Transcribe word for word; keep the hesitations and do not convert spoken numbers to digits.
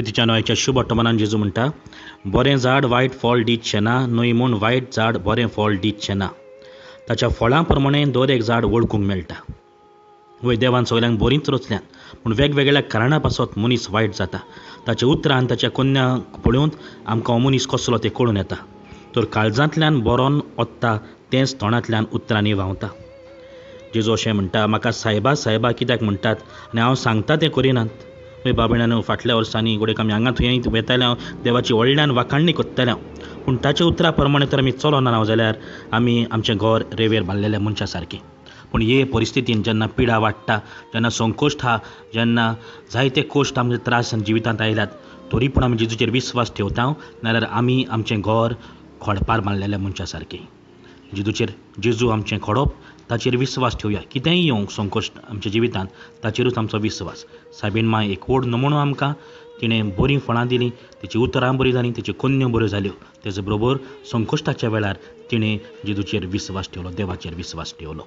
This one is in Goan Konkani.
प्रितीच्या नोयाच्या शुभ वर्तमानान जेजू म्हणटा, बरें झाड वायट फळ दितचें ना, न्हय म्हूण वायट झाड बरें फळ दितचें ना. ताच्या फळां प्रमाणे दर एक झाड वळखूंक मेळटा. वय देवान सगल्यांक बरींच रचल्यांत, पूण वेगवेगळ्या कारणां पासत मनीस वायट जाता. ताच्या उतरान ताच्या कोन्याक पळोवन आमकां हो मनीस कसलो तें कळून येता. तर काळजांतल्यान बरोवन ओत्ता तेंच तोंडांतल्यान उतरांनी व्हांवता. जेजू अशें म्हणटा, म्हाका सायबा सायबा कित्याक म्हणटात आनी हांव सांगता तें करिनात? हय बाबड्यानो, फाटल्या वर्सांनी घडये आमी हांगा थंय वेताले, हांव देवाची व्हडल्यान वाखाणणी करताले हांव, पूण ताच्या उतरा प्रमाणे तर आमी चलना ना जाल्यार आमी आमचें घर रेंवेर बांदलेल्या मनशा सारकें. पूण हे परिस्थितीन जेन्ना पिडा वाडटा, जेन्ना संकोश्ट आहा, जेन्ना जायते कोश्ट आमचे त्रास जिवितांत आयल्यात, तरी पूण आमी जेजूचेर विस्वास ठेवता, नाजाल्यार आमी आमचें घर खोडपार बांदलेल्या मनशा सारकें. जेजूचेर, जेजू आमचें खोडप, ताचेर विस्वास ठेवया. कितेंय येवंक संकोश्ट आमच्या जिवितांत, ताचेरूच आमचो विस्वास. सायबीण माय एक व्हड नमुनो आमकां. तिणें बरीं फळां दिलीं, तिची उतरां बरीं जालीं, तिच्यो कोन्न्यो बऱ्यो जाल्यो. तेजे बरोबर संकश्टाच्या वेळार तिणें जेजूचेर विस्वास ठेवलो, देवाचेर विस्वास ठेवलो.